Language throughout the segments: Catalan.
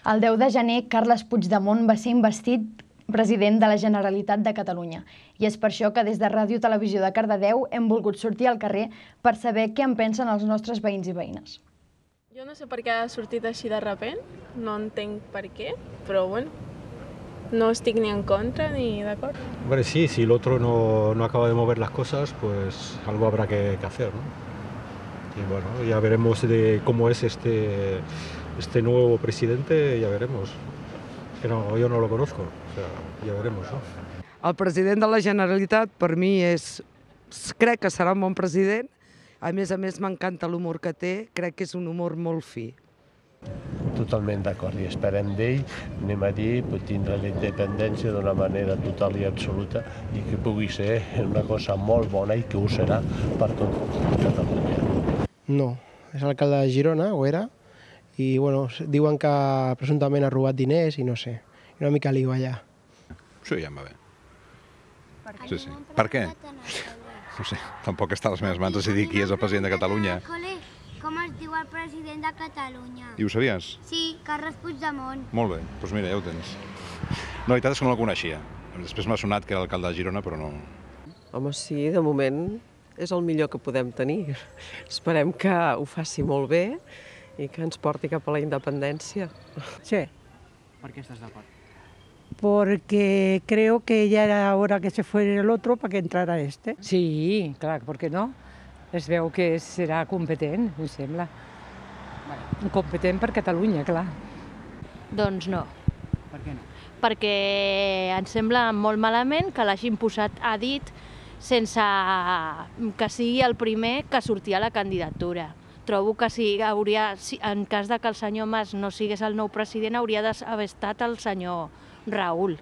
El 10 de gener, Carles Puigdemont va ser investit president de la Generalitat de Catalunya. I és per això que des de Ràdio Televisió de Cardedeu hem volgut sortir al carrer per saber què en pensen els nostres veïns i veïnes. Jo no sé per què ha sortit així de repent, no entenc per què, però bueno, no estic ni en contra ni d'acord. Hombre, sí, si el otro no acaba de mover las cosas, pues algo habrá que hacer, ¿no? Y bueno, ya veremos de cómo es este nuevo presidente, ya veremos. Que no, yo no lo conozco, o sea, ya veremos, ¿no? El president de la Generalitat, per mi, crec que serà un bon president. A més, m'encanta l'humor que té, crec que és un humor molt fi. Totalment d'acord, i esperem d'ell, anem a dir, tindre la independència d'una manera total i absoluta i que pugui ser una cosa molt bona i que ho serà per tot Catalunya. No, és alcalde de Girona, o era, i bueno, diuen que presumptament ha robat diners i no sé, una mica lío allà. Sí, ja em va bé. Sí, sí. Per què? No sé, tampoc està a les meves mans decidir qui és el president de Catalunya. Com es diu el president de Catalunya? I ho sabies? Sí, Carles Puigdemont. Molt bé, doncs mira, ja ho tens. La veritat és que no el coneixia. Després m'ha sonat que era alcalde de Girona, però no... Home, sí, de moment és el millor que podem tenir. Esperem que ho faci molt bé i que ens porti cap a la independència. Sí. ¿Por qué estás de acuerdo? Porque creo que ya era hora que se fuera el otro para que entrara este. Sí, clar, per què no? Es veu que serà competent, em sembla. Competent per Catalunya, clar. Doncs no. Per què no? Perquè em sembla molt malament que l'hagin posat a dit sense que sigui el primer que sortia a la candidatura. Trobo que en cas que el senyor Mas no sigués el nou president, hauria d'haver estat el senyor Raül.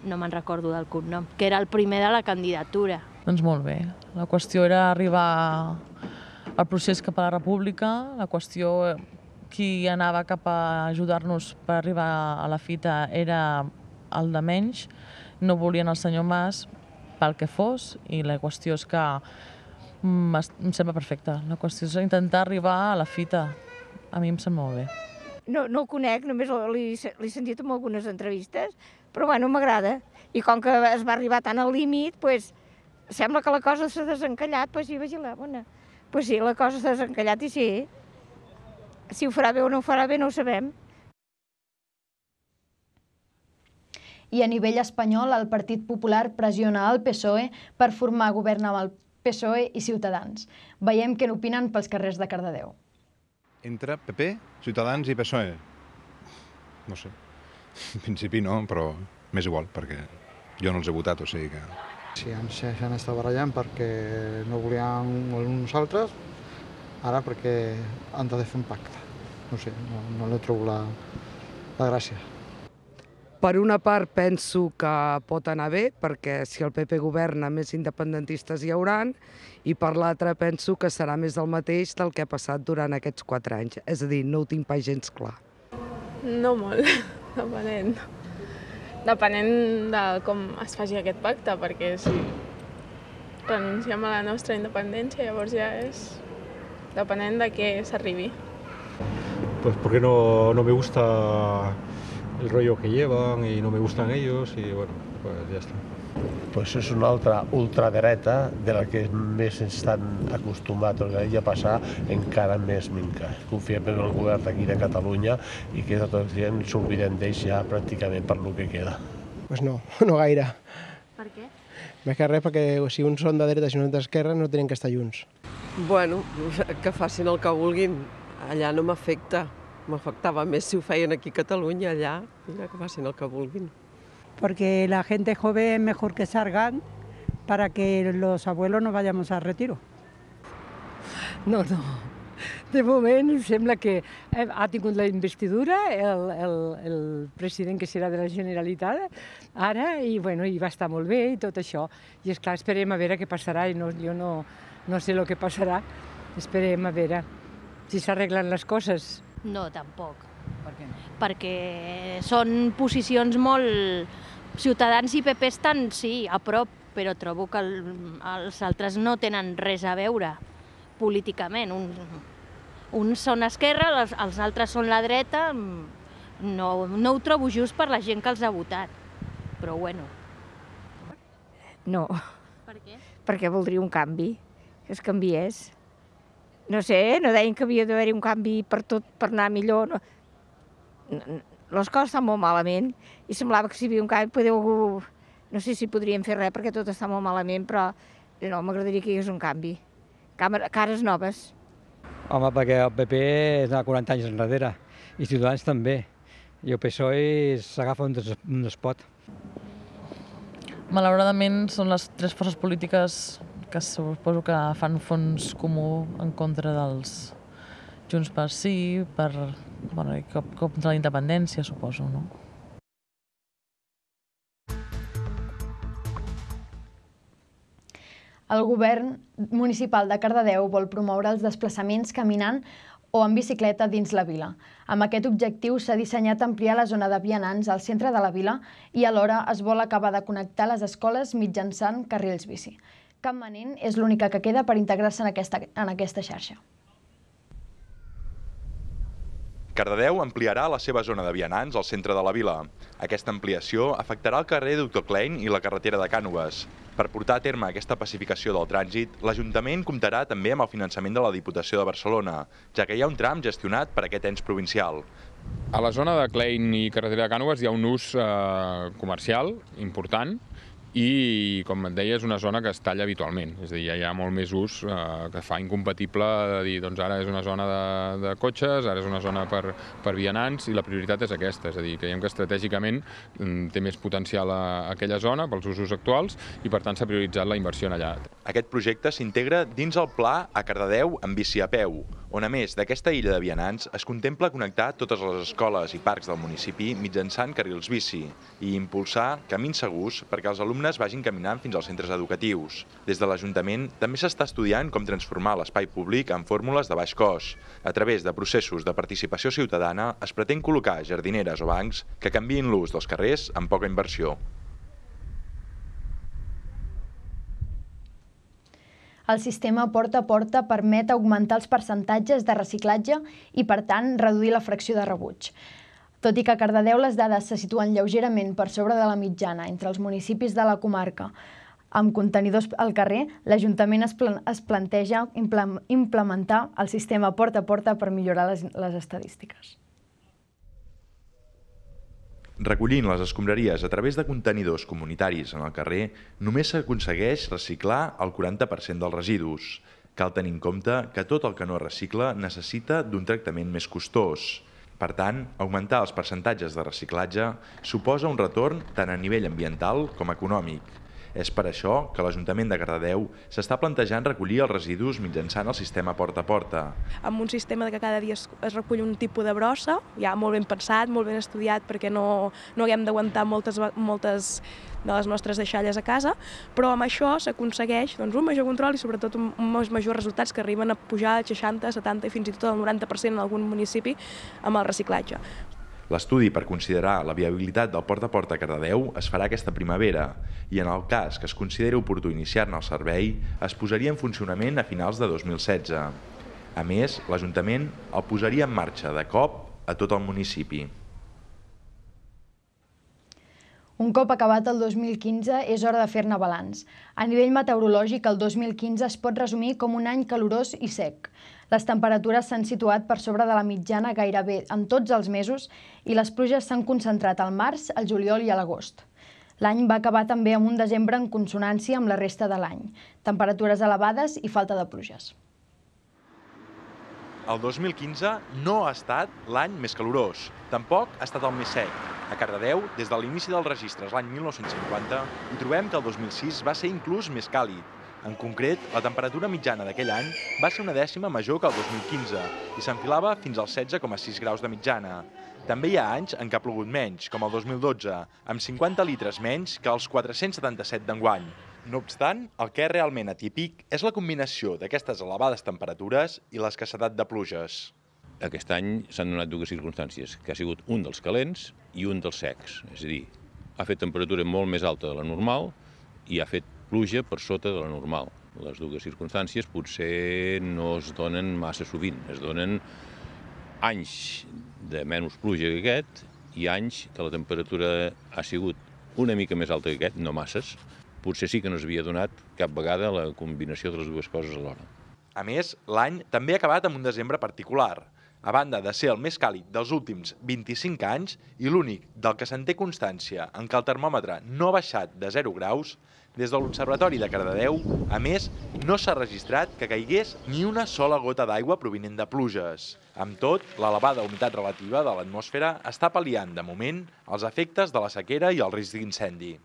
No me'n recordo del cognom, que era el primer de la candidatura. Doncs molt bé. La qüestió era arribar al procés cap a la república, la qüestió qui anava cap a ajudar-nos per arribar a la fita era el de menys, no volien el senyor Mas pel que fos, i la qüestió és que em sembla perfecte. La qüestió és intentar arribar a la fita. A mi em sembla molt bé. No el conec, només l'he sentit en algunes entrevistes, però bueno, m'agrada. I com que es va arribar tan al límit, doncs sembla que la cosa s'ha desencallat, doncs sí, vigila, bona. Doncs sí, la cosa s'ha desencallat i sí. Si ho farà bé o no ho farà bé no ho sabem. I a nivell espanyol, el Partit Popular pressiona el PSOE per formar govern amb el PSOE i Ciutadans. Veiem què n'opinen pels carrers de Cardedeu. Entre PP, Ciutadans i PSOE? No sé. En principi no, però m'és igual, perquè jo no els he votat, o sigui que... Sí, s'han estat barallant perquè no volien uns altres, ara perquè han de fer un pacte. No sé, no li trobo la gràcia. Per una part penso que pot anar bé, perquè si el PP governa més independentistes hi hauran, i per l'altra penso que serà més del mateix del que ha passat durant aquests 4 anys. És a dir, no ho tinc pas gens clar. No molt, depenent. Depenent de com es faci aquest pacte, perquè si renunciem a la nostra independència, llavors ja és depenent de què s'arribi. Pues porque no me gusta el rollo que llevan y no me gustan ellos y bueno, pues ya está. Pues és una altra ultradereta de la que més estan acostumats a passar encara més minca. Confiem en el govern d'aquí de Catalunya i que tota la gent s'obliden d'ells ja pràcticament per lo que queda. Pues no gaire. Per què? Més que res perquè si uns són de dreta i uns d'esquerra no tenen que estar junts. Bueno, que facin el que vulguin. Allà no m'afecta. M'afectava més si ho feien aquí a Catalunya, allà. Mira, que facin el que vulguin. Porque la gente joven es mejor que salgan para que los abuelos no vayamos a retiro. No. De moment em sembla que ha tingut la investidura el president que serà de la Generalitat ara i va estar molt bé i tot això. I esclar, esperem a veure què passarà i jo no sé el que passarà. Esperem a veure si s'arreglen les coses. No, tampoc. Per què no? Perquè són posicions molt... Ciutadans i PP estan, sí, a prop, però trobo que els altres no tenen res a veure políticament. Uns són esquerra, els altres són la dreta, no ho trobo just per la gent que els ha votat, però bueno. No. Per què? Perquè voldria un canvi, que es canviés. No sé, no deien que havia d'haver-hi un canvi per tot, per anar millor. Les coses estan molt malament i semblava que si hi havia un canvi, no sé si podríem fer res perquè tot està molt malament, però no, m'agradaria que hi hagués un canvi. Cares noves. Home, perquè el PP és de 40 anys enrere i Ciutadans també. I el PSOE s'agafa on es pot. Malauradament són les tres forces polítiques que suposo que fan fons comú en contra dels Junts pel Sí, contra la independència, suposo, no? El govern municipal de Cardedeu vol promoure els desplaçaments caminant o en bicicleta dins la vila. Amb aquest objectiu s'ha dissenyat ampliar la zona de vianants al centre de la vila i alhora es vol acabar de connectar les escoles mitjançant carrils bici. Campmanent és l'única que queda per integrar-se en aquesta xarxa. Cardedeu ampliarà la seva zona de vianants al centre de la vila. Aquesta ampliació afectarà el carrer Doctor Klein i la carretera de Cànoves. Per portar a terme aquesta pacificació del trànsit, l'Ajuntament comptarà també amb el finançament de la Diputació de Barcelona, ja que hi ha un tram gestionat per aquest ens provincial. A la zona de Klein i carretera de Cànoves hi ha un ús comercial important i, com et deia, és una zona que es talla habitualment. És a dir, ja hi ha molt més ús que fa incompatible de dir, doncs ara és una zona de cotxes, ara és una zona per vianants i la prioritat és aquesta. És a dir, creiem que estratègicament té més potencial aquella zona pels usos actuals i per tant s'ha prioritzat la inversió en allà. Aquest projecte s'integra dins el pla a Cardedeu amb bici a peu, on a més d'aquesta illa de vianants es contempla connectar totes les escoles i parcs del municipi mitjançant carrils bici i impulsar camins segurs perquè els alumnes vagin caminant fins als centres educatius. Des de l'Ajuntament també s'està estudiant com transformar l'espai públic en fórmules de baix cost. A través de processos de participació ciutadana es pretén col·locar jardineres o bancs que canviïn l'ús dels carrers amb poca inversió. El sistema porta a porta permet augmentar els percentatges de reciclatge i, per tant, reduir la fracció de rebuig. Tot i que a Cardedeu les dades se situen lleugerament per sobre de la mitjana entre els municipis de la comarca amb contenidors al carrer, l'Ajuntament es planteja implementar el sistema porta a porta per millorar les estadístiques. Recollint les escombraries a través de contenidors comunitaris en el carrer, només s'aconsegueix reciclar el 40% dels residus. Cal tenir en compte que tot el que no es recicla necessita d'un tractament més costós. Per tant, augmentar els percentatges de reciclatge suposa un retorn tant a nivell ambiental com econòmic. És per això que l'Ajuntament de Cardedeu s'està plantejant recollir els residus mitjançant el sistema porta a porta. Amb un sistema que cada dia es recull un tipus de brossa, ja molt ben pensat, molt ben estudiat, perquè no haguem d'aguantar moltes de les nostres deixalles a casa, però amb això s'aconsegueix un major control i sobretot uns majors resultats que arriben a pujar al 60, 70 i fins i tot al 90% en algun municipi amb el reciclatge. L'estudi per considerar la viabilitat del porta a porta a Cardedeu es farà aquesta primavera i en el cas que es consideri oportú iniciar-ne el servei es posaria en funcionament a finals de 2016. A més, l'Ajuntament el posaria en marxa de cop a tot el municipi. Un cop acabat el 2015, és hora de fer-ne balanç. A nivell meteorològic, el 2015 es pot resumir com un any calorós i sec. Les temperatures s'han situat per sobre de la mitjana gairebé en tots els mesos i les pluges s'han concentrat al març, al juliol i a l'agost. L'any va acabar també amb un desembre en consonància amb la resta de l'any. Temperatures elevades i falta de pluges. El 2015 no ha estat l'any més calorós, tampoc ha estat el més sec. A Cardedeu, des de l'inici dels registres l'any 1950, hi trobem que el 2006 va ser inclús més càlid. En concret, la temperatura mitjana d'aquell any va ser una dècima major que el 2015 i s'enfilava fins als 16,6 graus de mitjana. També hi ha anys en què ha plogut menys, com el 2012, amb 50 litres menys que els 477 d'enguany. No obstant, el que és realment atípic és la combinació d'aquestes elevades temperatures i l'escassedat de pluges. Aquest any s'han donat dues circumstàncies, que ha sigut un dels calents i un dels secs. És a dir, ha fet temperatura molt més alta de la normal i ha fet pluja per sota de la normal. Les dues circumstàncies potser no es donen massa sovint. Es donen anys de menys pluja que aquest hi ha anys que la temperatura ha sigut una mica més alta que aquest, no masses. Potser sí que no s'havia donat cap vegada la combinació de les dues coses alhora. A més, l'any també ha acabat amb un desembre particular. A banda de ser el més càlid dels últims 25 anys i l'únic del que se'n té constància en què el termòmetre no ha baixat de 0 graus, des de l'Observatori de Cardedeu, a més, no s'ha registrat que caigués ni una sola gota d'aigua provinent de pluges. Amb tot, l'elevada humitat relativa de l'atmosfera està pal·liant, de moment, els efectes de la sequera i el risc d'incendi.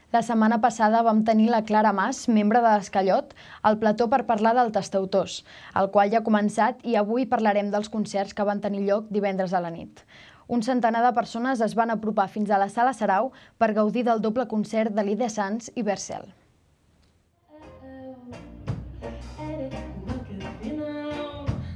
La setmana passada vam tenir la Clara Mas, membre de l'Escallot, al plató per parlar del Tastautors, el qual ja ha començat i avui parlarem dels concerts que van tenir lloc divendres a la nit. Un centenar de persones es van apropar fins a la Sala Sarau per gaudir del doble concert de Lide Sanz i Bercel.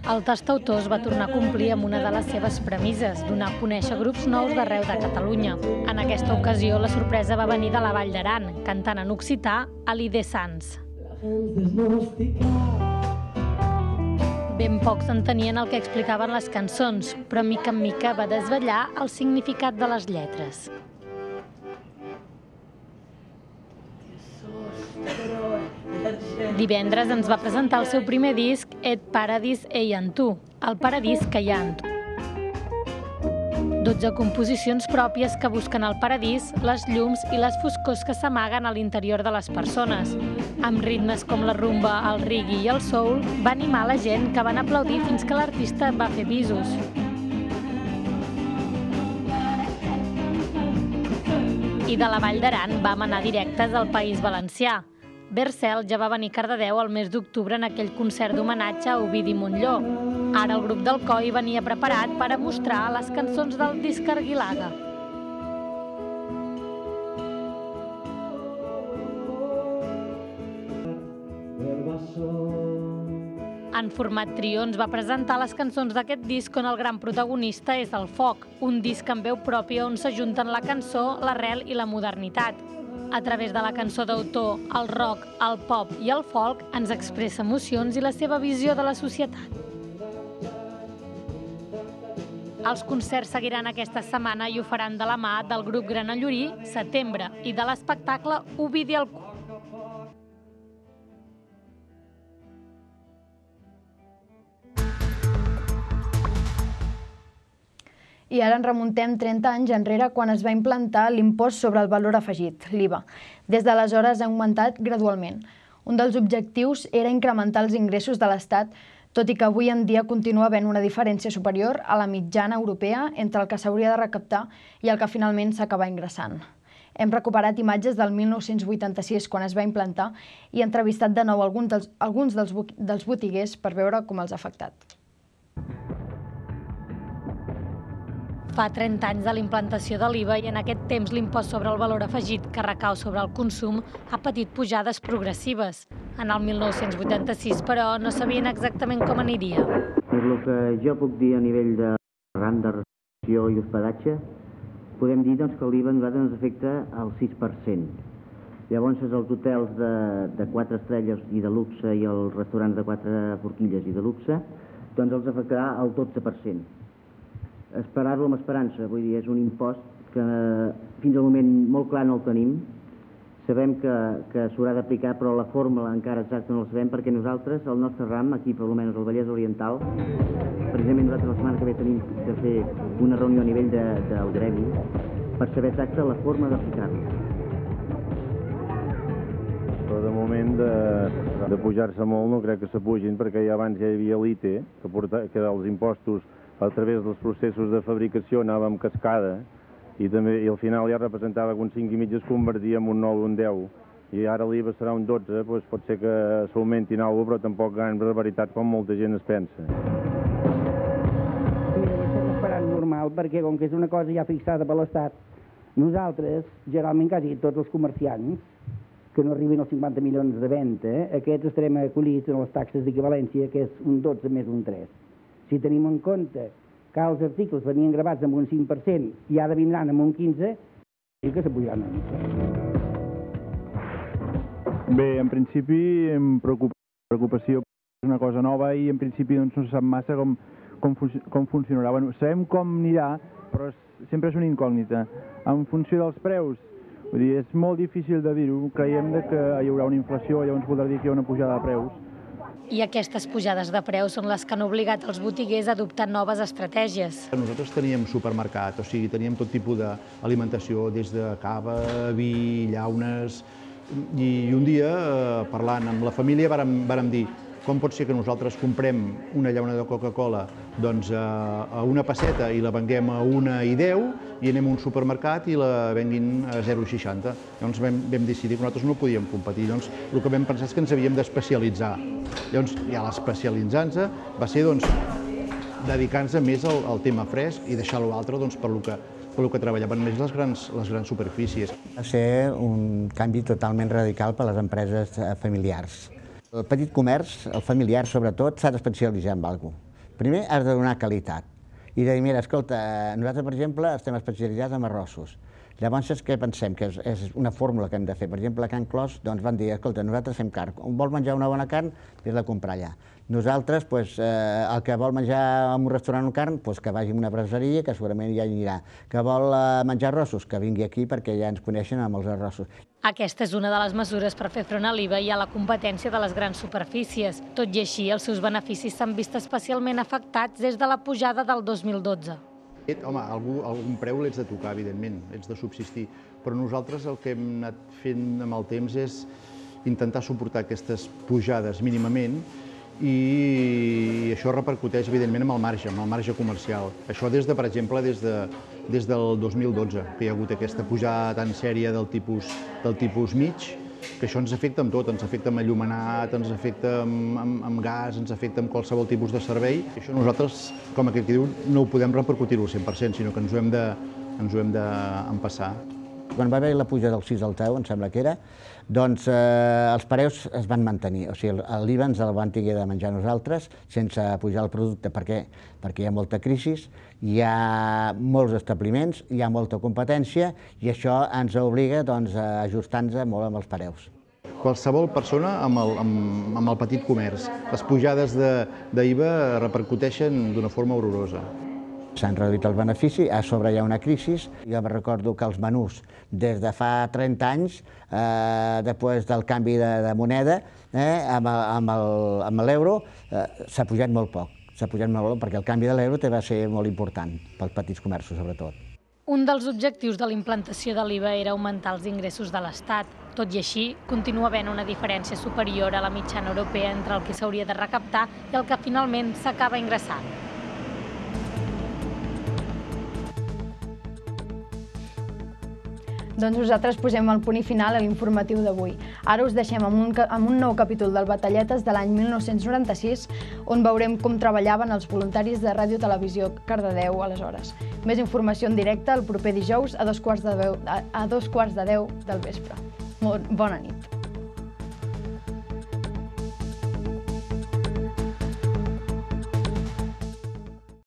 El Tastautors va tornar a complir amb una de les seves premisses, donar a conèixer grups nous d'arreu de Catalunya. En aquesta ocasió, la sorpresa va venir de la Vall d'Aran, cantant en occità a Lide Sanz. Ben pocs entenien el que explicaven les cançons, però mica en mica va desvetllar el significat de les lletres. Divendres ens va presentar el seu primer disc, Et Paradís ei en tu, el paradís que hi ha en tu. 12 composicions pròpies que busquen el paradís, les llums i les foscors que s'amaguen a l'interior de les persones. Amb ritmes com la rumba, el reggae i el soul, va animar la gent que van aplaudir fins que l'artista va fer bisos. I de la Vall d'Aran vam anar directes al País Valencià. Bercel ja va venir a Cardedeu el mes d'octubre en aquell concert d'homenatge a Ovidi Montllor. Ara el grup del Coi venia preparat per a mostrar les cançons del disc Argilaga. En format trio ens va presentar les cançons d'aquest disc on el gran protagonista és el foc, un disc amb veu pròpia on s'ajunten la cançó, l'arrel i la modernitat. A través de la cançó d'autor, el rock, el pop i el folk ens expressa emocions i la seva visió de la societat. Els concerts seguiran aquesta setmana i ho faran de la mà del grup Granallorí, Setembre, i de l'espectacle Ovidi al Cor. I ara ens remuntem 30 anys enrere quan es va implantar l'impost sobre el valor afegit, l'IVA. Des d'aleshores ha augmentat gradualment. Un dels objectius era incrementar els ingressos de l'Estat, tot i que avui en dia continua havent una diferència superior a la mitjana europea entre el que s'hauria de recaptar i el que finalment s'acaba ingressant. Hem recuperat imatges del 1986, quan es va implantar, i entrevistat de nou alguns dels botiguers per veure com els ha afectat. Fa 30 anys de la implantació de l'IVA i en aquest temps l'impost sobre el valor afegit que recau sobre el consum ha patit pujades progressives. En el 1986, però, no sabien exactament com aniria. El que jo puc dir a nivell de ram de restauració i hospedatge, podem dir que l'IVA a nosaltres ens afecta al 6%. Llavors, els hotels de 4 estrelles i de luxe i els restaurants de 4 forquilles i de luxe, doncs els afectarà al 12%. Esperar-lo amb esperança, vull dir, és un impost que fins al moment molt clar no el tenim. Sabem que s'haurà d'aplicar, però la fórmula encara exacta no la sabem, perquè nosaltres, el nostre ram, aquí per almenys al Vallès Oriental, precisament nosaltres la setmana que ve tenim de fer una reunió a nivell del gremi per saber exacta la forma d'aplicar-lo. Però de moment de pujar-se molt no crec que s'apugin, perquè ja abans ja hi havia l'ITE, que els impostos a través dels processos de fabricació anava amb cascada i al final ja representava que un 5,5 es convertia en un 9 o un 10 i ara l'IVA serà un 12, doncs pot ser que s'augmentin alguna cosa, però tampoc gran barbaritat com molta gent es pensa. Mira, ho estem esperant normal perquè com que és una cosa ja fixada per l'Estat, nosaltres, generalment quasi tots els comerciants que no arribin als 50 milions de venda, aquests estarem acollits en les taxes d'equivalència, que és un 12 més un 3. Si tenim en compte que els articles venien gravats amb un 5% i ara vindran amb un 15%, sí que s'apujaran una mica. Bé, en principi, em preocupació És una cosa nova i en principi no se sap massa com funcionarà. Sabem com anirà, però sempre és una incògnita. En funció dels preus, vull dir, és molt difícil de dir-ho. Creiem que hi haurà una inflació, llavors voldrà dir que hi ha una pujada de preus. I aquestes pujades de preus són les que han obligat els botiguers a adoptar noves estratègies. Nosaltres teníem supermercat, o sigui, teníem tot tipus d'alimentació, des de cava, vi, llaunes, i un dia, parlant amb la família, vàrem dir com pot ser que nosaltres comprem una llauna de Coca-Cola a una pesseta i la venguem a 1,10 i anem a un supermercat i la venguin a 0,60. Llavors vam decidir que nosaltres no podíem competir. Llavors el que vam pensar és que ens havíem d'especialitzar. Llavors, ja l'especialitzar-nos va ser dedicar-nos més al tema fresc i deixar l'altre per lo que treballaven més les grans superfícies. Va ser un canvi totalment radical per a les empreses familiars. El petit comerç, el familiar sobretot, s'ha d'especialitzar en alguna cosa. Primer has de donar qualitat i de dir, mira, escolta, nosaltres, per exemple, estem especialitzats en arrossos. Llavors, què pensem? Que és una fórmula que hem de fer. Per exemple, a Can Clos van dir, escolta, nosaltres fem carn. Vols menjar una bona carn? Vés-la a comprar allà. Nosaltres, el que vol menjar en un restaurant o carn, que vagi a una brasseria, que segurament ja anirà. Que vol menjar arrossos, que vingui aquí perquè ja ens coneixen amb els arrossos. Aquesta és una de les mesures per fer front a l'IVA i a la competència de les grans superfícies. Tot i així, els seus beneficis s'han vist especialment afectats des de la pujada del 2012. Home, algun preu l'ets de tocar, evidentment, ets de subsistir, però nosaltres el que hem anat fent amb el temps és intentar suportar aquestes pujades mínimament i això repercuteix, evidentment, amb el marge comercial. Això per exemple, des del 2012, que hi ha hagut aquesta pujada tan sèria del tipus mig, que això ens afecta amb tot, ens afecta amb enllumenat, ens afecta amb gas, ens afecta amb qualsevol tipus de servei. Això nosaltres, com aquell que diu, no ho podem repercutir-ho al 100%, sinó que ens ho hem d'empassar. Quan va haver la puja del 6 al 10, em sembla que era, doncs els preus es van mantenir. O sigui, l'IVA ens el van tenir de menjar nosaltres sense pujar el producte. Per què? Perquè hi ha molta crisi, hi ha molts establiments, hi ha molta competència i això ens obliga a ajustar-nos molt amb els preus. Qualsevol persona amb el petit comerç. Les pujades d'IVA repercuteixen d'una forma horrorosa. S'han reduït el benefici, a sobre hi ha una crisi. Jo me recordo que els menús, des de fa 30 anys, després del canvi de moneda, amb l'euro, s'ha pujat molt poc. S'ha pujat molt poc perquè el canvi de l'euro va ser molt important, pels petits comerços sobretot. Un dels objectius de la implantació de l'IVA era augmentar els ingressos de l'Estat. Tot i així, continua havent una diferència superior a la mitjana europea entre el que s'hauria de recaptar i el que finalment s'acaba ingressant. Doncs nosaltres posem el punt i final a l'informatiu d'avui. Ara us deixem amb un nou capítol del Batalletes de l'any 1996, on veurem com treballaven els voluntaris de Ràdio Televisió Cardedeu aleshores. Més informació en directe el proper dijous a 2:15 del vespre. Bona nit.